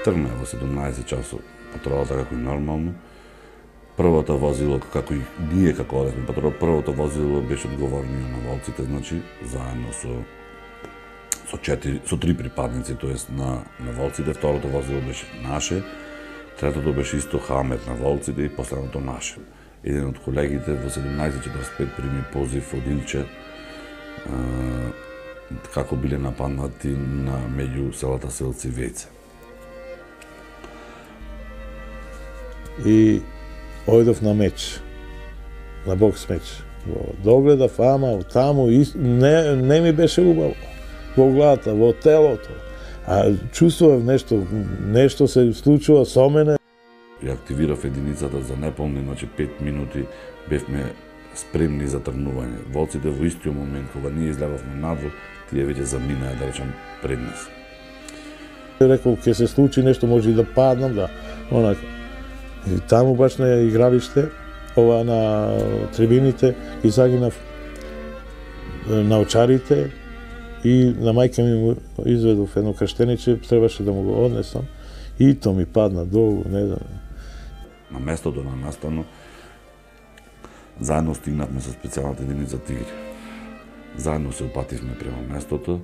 Тргна во 17 часот патролата како и нормално. Првото возило, како и ние како одевме патрола, првото возило беше одговорниот на волците, значи, заедно со три припадници, тоест на волците, второто возило беше наше, третото беше исто Хамет на волците и последното наше. Еден од колегите во 17:45 прими позив од Илче, како биле нападнати на меѓу селата Селци и Вејце. И ојдов на меч, на бокс меч. Догледав, ама таму не ми беше убаво. Во главата, во телото. А чувствував нешто се случува со мене. Ја активирав единицата за неполни, значи 5 минути бевме спремни за тргнување. Волците во истиот момент кога ние излегавме надвор, тие веќе заминаа, да речам, пред нас. Рекол, ќе се случи нешто, може и да паднам, да, онака. И таму баш на игралиште, ова на трибините, и загинав на очарите и на мајка ми му изведов едно крштениче, требаше да му го однесам и то ми падна долу, не знам. На местото на настанот, заедно стигнавме со специјалната единица Тигри. Заедно се упативме према местото.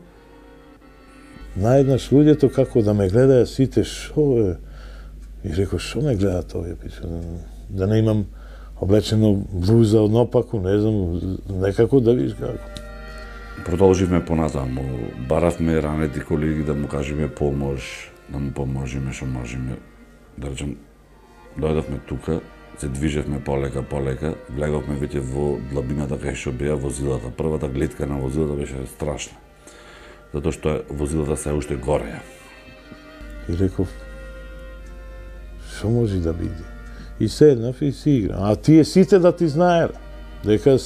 Наеднаш луѓето како да ме гледаја сите, шо е? И рекол, шо ме гледаат овие, да не имам облечено блуза од напаку, не знам, некако да видиш како. Продолживме понатаму, баравме ранети колеги да му кажеме помош, да му поможиме што можеме. Да речем, дојдовме тука, се движевме полека, влеговме веќе во длабината кај што беа возилата. Првата гледка на возилата беше страшна, затоа што возилата се уште гореја. И реков, што може да биде? И седнав и си играм. А тие сите да ти знаеле, дека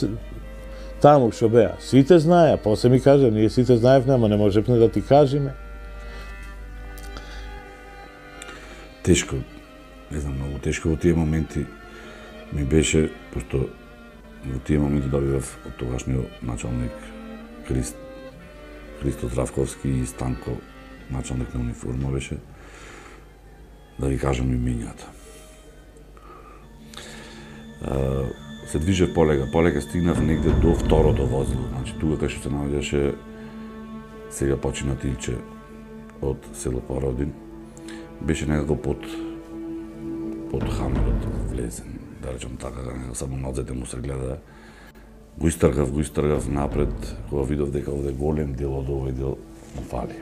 таму што беа, сите знаеа, после ми кажа, ние сите знаевме, ама не можевме да ти кажеме. Тешко, не знам, многу тешко во тие моменти ми беше, пошто во тие моменти добивав од тогашниот началник Христо Здравковски и Станко, началник на униформа беше, да ви кажам имињата. Се движев полека стигнав негде до второто возило, значи тука кај што се наоѓаше сега починат Илче од село Породин, беше некако под Хамерот влезен, да речем така, само нозете му се гледа. Го истргав напред, кога видов дека овде голем дел од овој дел му фали.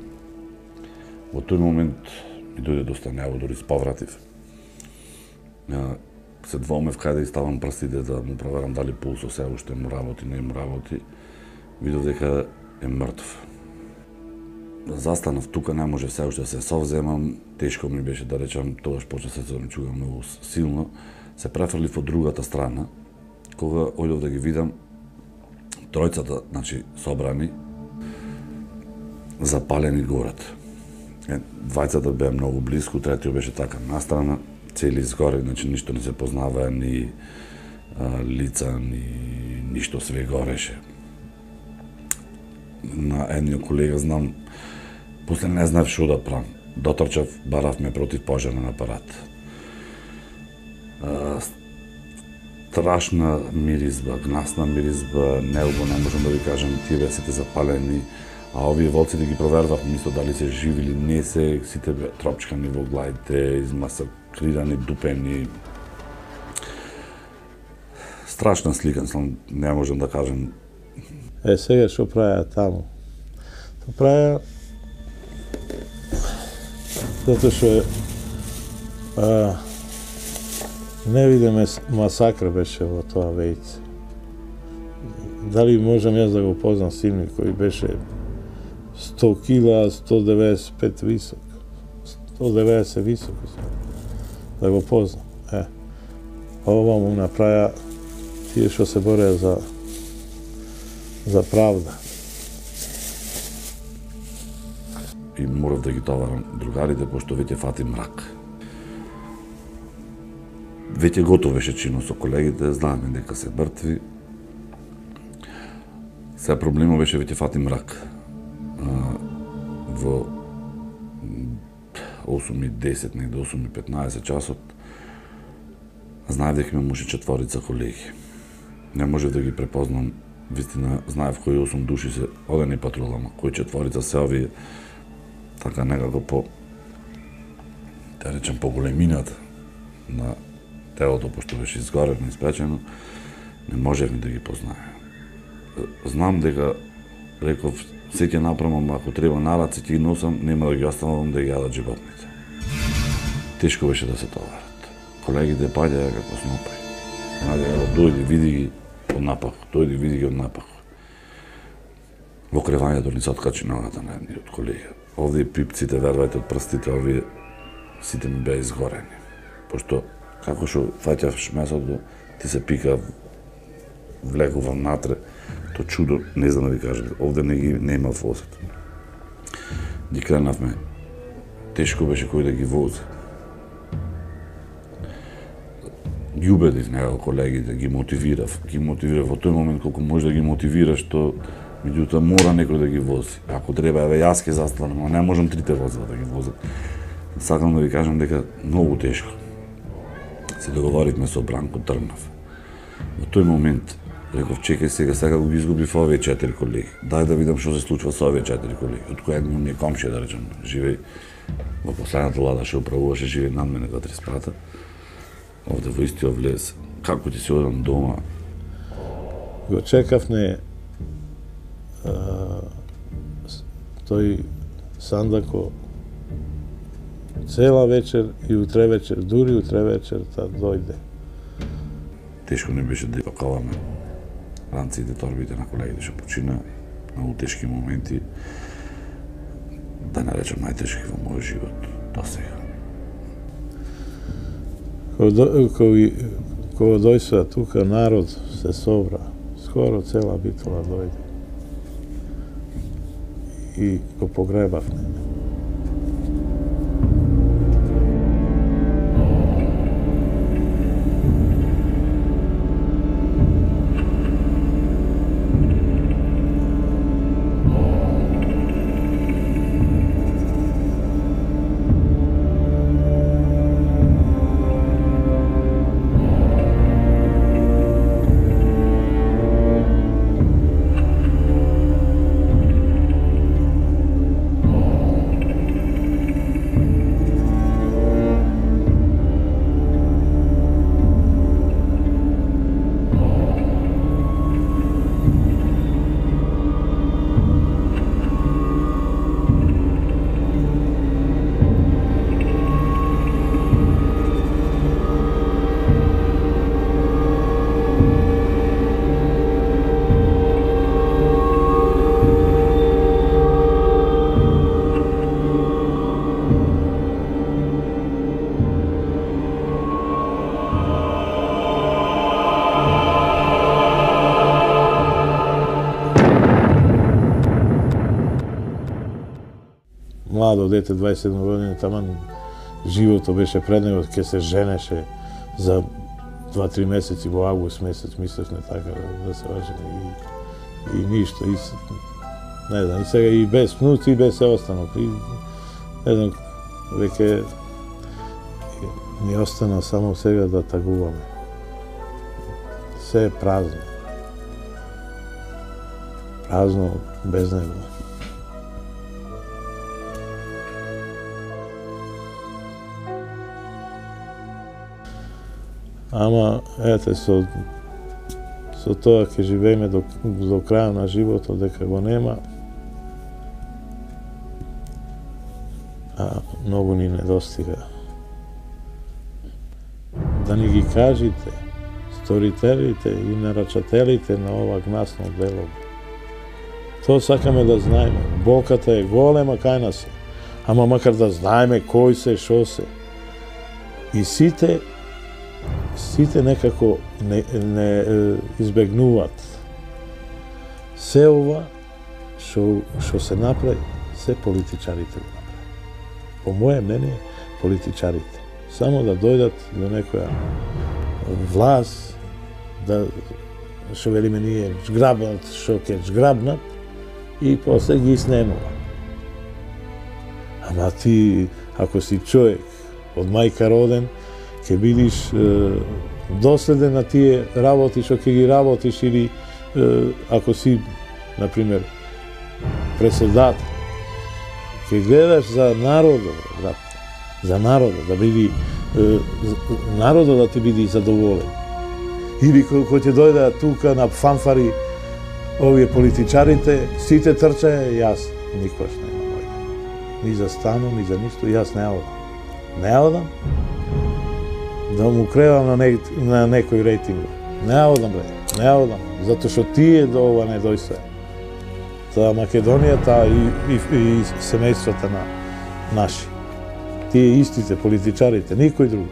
Во тој момент ми дојде доста нево, дори сповратив. Се двоумев кај да иставам прстите да му проверам дали пулсо се уште му работи, не му работи. Видов дека е мртв. Застанав тука, не може се уште да се совземам, тешко ми беше да речам, тогаш почна се ми чуга многу силно. Се префрлив од другата страна, кога ојдов да ги видам, тројцата, значи, собрани, запалени горат. Двајцата беа многу близко, третиот беше така настрана, цели изгоре, значи ништо не се познаваа, ни лица, ни ништо, све гореше. На едниот колега знам, после не знав што да правам. Дотрчав, баравме против пожарен апарат. Страшна миризба, гнасна миризба, неубо, не можам да ви кажам, тие беа сите запалени, а овие волците ги провервав, мисло дали се живи или не се, сите беа тропчкани во главите, измасакрирани, дупени. Страшна слика, не можам да кажам. Сега што правеа таму? Правеа затоа што невидиме масакра беше во тоа Вејце. Дали можам јас да го познам силни кој беше 100 кила, 195 висок. 190 висок. Да го познам. Ова му направија тие што се бореа за правда. И морав да ги товарам другарите, пошто веќе фати мрак. Веќе готов беше чинот со колегите, знаеме дека се мртви. Сега проблемот беше веќе фати мрак. Во 8:10, негде 8:15 часот, знаев дека имам уште 4 колеги. Не можев да ги препознам, вистина знаев кои 8 души се одени патрулама, кои 4 се овие, така некако по, да речем, по големината на телото, пошто беше изгорено, испечено, не можев да ги познаем. Знам дека, реков, се ќе направам, ако треба на раце ќе ги носам, нема да ги оставам да ги јадат животните. Тешко беше да се товарат. Колегите паѓаја како снопи. Дојди, види ги од напах, дојди, види ги од напах. Во кревањето ни се откачи ногата на едни од колеги. Овие пипците, вервајте, од прстите, овие сите ми беа изгорени. Пошто, како што фаќаш месото, ти се пика, влегува натре, то чудо, не знам да ви кажам, овде не има возет. Ги кренавме, тешко беше кој да ги вози. Ги убедив некако колегите, ги мотивирав во тој момент колку може да ги мотивираш, то меѓутоа мора некој да ги вози. Ако треба, еве јас ќе застанам, но не можам трите возила да ги возат. Сакам да ви кажам дека многу тешко. Се договоривме со Бранко Трнав. Во тој момент реков, чекај сега го изгубив овие 4 колеги. Дај да видам што се случува со овие 4 колеги. Од кој еден ми е комшија, да речем, живеј во последната лада што управуваше, живеј над мене во 3 спрата. Овде во истиот влез. Како ќе се одам дома? Го чекавме тој Сандако цела вечер и утре вечер, дури утре вечер та дојде. Тешко не беше да пакаваме ранците, торбите на колегите што почина, многу тешки моменти, да не речем најтешки во мојот живот до сега. Кога дојсва тука народ се собра, скоро цела Битола дојде. И го погребавме. Младо дете, 27 години, таман живото беше пред него, ќе се женеше за 2-3 месеци во август месец, мислевме така да се ожени и ништо, и не знам, и сега и без внуци и без се останал. И не знам, веќе ни остана само сега да тагуваме. Се е празно. Празно без него. Ама, ете, со тоа ќе живееме до крај на животот, дека го нема, а многу ни недостига. Да ни ги кажите, сторителите и нарачателите на ова гнасно дело. Тоа сакаме да знаеме. Болката е голема кај нас, ама макар да знаеме кој се, шо се. И сите некако не избегнуваат. Се ова што се направи, се политичарите го направи. По моје мнение, политичарите. Само да дојдат до некоја власт, да што велиме ние жграбнат, што ќе жграбнат, и после ги снемува. Ама ти ако си човек од мајка роден, ќе бидиш доследен на тие работи што ќе ги работиш, или ако си, например, преседател, ќе гледаш за народот, за народот, да биде народот да ти биде задоволен. Или кој ќе дојде тука на фанфари овие политичарите, сите трчаја, јас никош нема дојдам. Ни за стану, ни за ништо, јас не одам. Не одам да му кревам на некој рейтинг. Не одам, бре, не одам, затоа што тие до ова не дојстоја. Таа Македонијата и семејствата на наши. Тие истите политичарите, никој друг.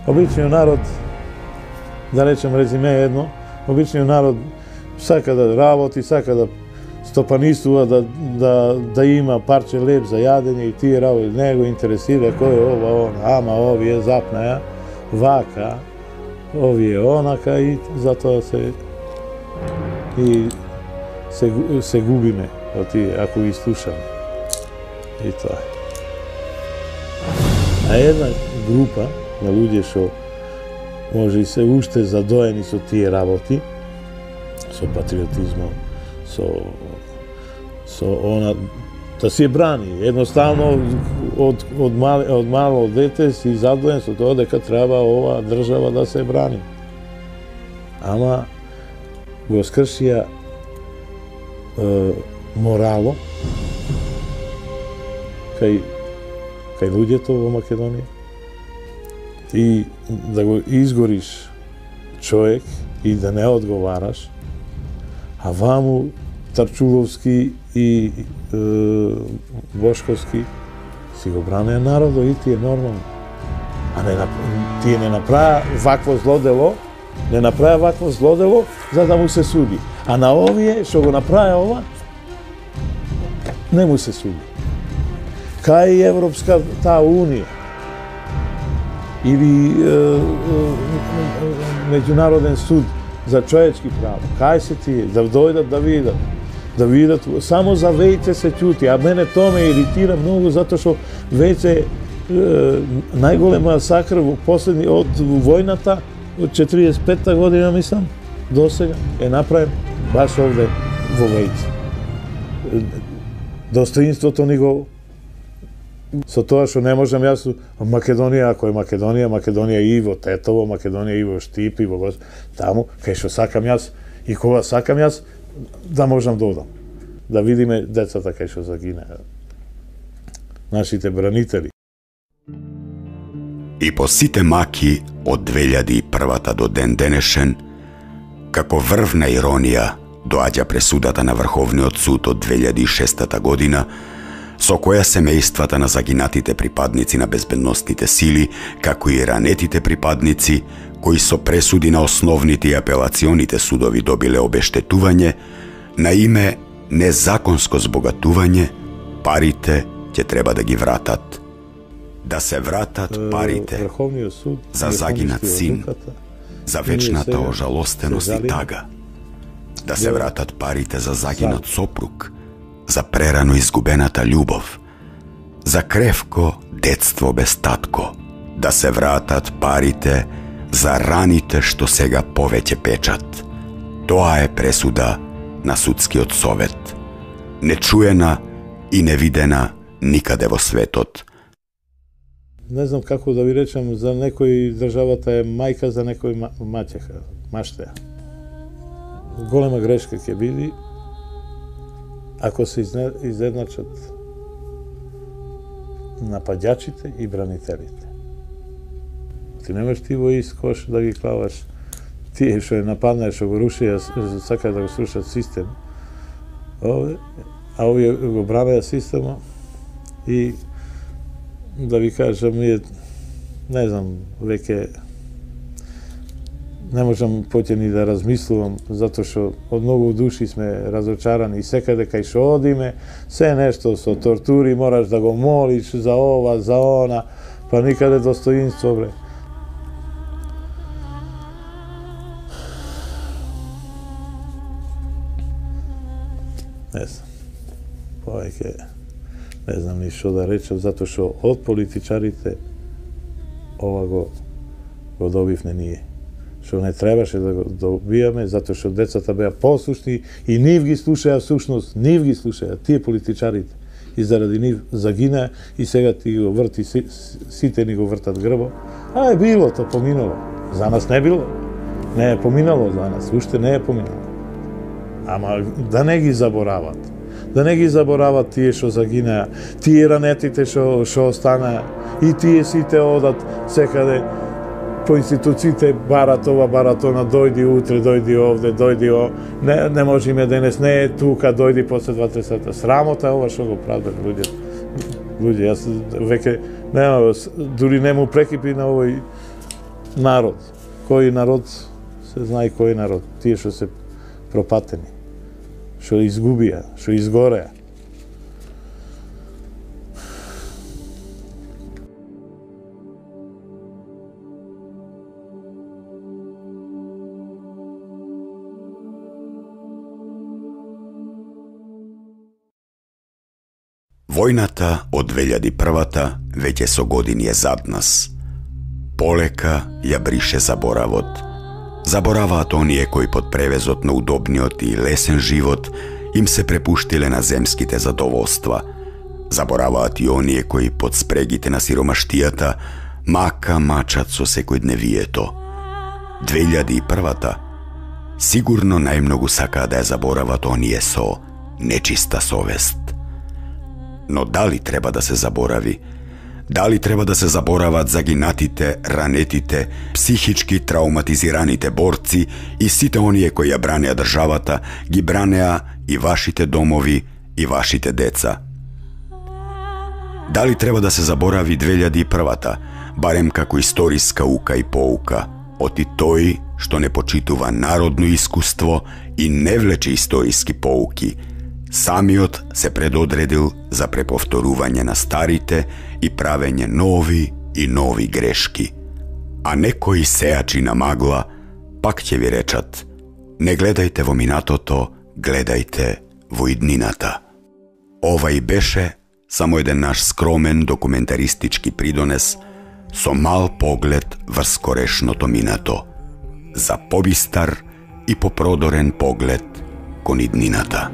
Обичниот народ, да речем резиме едно, обичниот народ сака да работи, сака да стопанистува, да има парче леб за јадење и тие работи. Не го интересира кој е ова, ама овие запнаја, вака, овие онака, и затоа се губиме од тие, ако ги слушаме. И тоа е. А една група на луѓе што може и се уште задоени со тие работи, со патриотизмот, со она, да се брани. Едноставно, од мало дете си задоен со тоа дека треба ова држава да се брани. Ама го скршија морало кај луѓето во Македонија, и да го изгориш човек и да не одговараш, а ваму Тарчуловски и Бошковски си го бранеа народот, и тие нормално. А тие не направа вакво злодело, за да му се суди. А на овие што го направи ова, не му се суди. Кај Европска таа унија или Меѓународен суд за човечки права, кај се тие, да дојдат да видат, само за Вејце се ќути, а мене тоа ме иритира многу, затоа што Вејце најголема сакр во последни, од војната, од 45-та година, мислам, до сега, е направен баш овде во Вејце. Достоинството ни го, со тоа што не можам јас, Македонија, ако е Македонија и во Тетово, Македонија и во Штип, и во таму, кај што сакам јас, и кога сакам јас, да можам да одам. Да видиме децата кај што загинаа. Нашите бранители. И по сите маки од 2001-та до ден денешен, како врвна иронија, доаѓа пресудата на Врховниот суд од 2006 година, со која семејствата на загинатите припадници на безбедносните сили, како и ранетите припадници, кои со пресуди на основните и апелационите судови добиле обештетување, на име незаконско збогатување, парите ќе треба да ги вратат. Да се вратат парите за загинат син, за вечната ожалостеност и тага. Да се вратат парите за загинат сопруг, за прерано изгубената љубов, за кревко детство без татко, да се вратат парите за раните што сега повеќе печат. Тоа е пресуда на судскиот совет, нечуена и невидена никаде во светот. Не знам како да ви речем, за некој државата е мајка, за некој маќеха, маштеја. Голема грешка ќе биде ако се изедначат нападјачите и бранителите. Ти немаш ти во ист кош да ги клаваш тие што е нападнаа, што го рушија, сакаат да го срушат систем, а овие го бранеа система. И да ви кажам, не знам, веќе не можам поќе ни да размислувам, затоа што од многу души сме разочарани, и секаде кај што одиме, се нешто со тортури, мораш да го молиш за ова, за она, па никаде достоинство, бре. Не знам, повеќе не знам ни што да речем, затоа што од политичарите ова го добивме ние. Што не требаше да го добијаме, затоа што децата беа послушни и нив ги слушаја, всушност, нив ги слушаја, тие политичарите. И заради нив загина и сега ти го врти, сите ни го вртат грбо. Било, то поминало. За нас не било. Не е поминало за нас, уште не е поминало. Ама да не ги заборават. Да не ги заборават тие што загинаа, тие ранетите што останаа и тие сите одат секаде по институциите, барат ова, барат она, дојди утре, дојди овде, дојди не можеме денес, не е тука, дојди после 2-3 сата. Срамота ова што го прават луѓе. Луѓе, јас веќе нема, дури не му прекипи на овој народ. Кој народ, се знае кој народ, тие што се пропатени, што изгубија, што изгореа. Војната од 2001-та веќе со години е зад нас. Полека ја брише заборавот. Забораваат оние кои под превезот на удобниот и лесен живот им се препуштиле на земските задоволства. Забораваат и оние кои под спрегите на сиромаштијата мачат со секојдневието. 2001-та сигурно најмногу сакаа да ја заборават оние со нечиста совест. Но дали треба да се заборави? Дали треба да се заборават загинатите, ранетите, психички трауматизираните борци и сите оние кои ја бранеа државата, ги бранеа и вашите домови и вашите деца? Дали треба да се заборави 2001-та, барем како историска ука и поука, оти тој што не почитува народно искуство и не влече историски поуки, самиот се предодредил за преповторување на старите и правење нови и нови грешки. А некои сеачи на магла пак ќе ви речат: не гледајте во минатото, гледајте во иднината. Ова и беше само еден наш скромен документаристички придонес со мал поглед врз скорешното минато, за побистар и попродорен поглед кон иднината.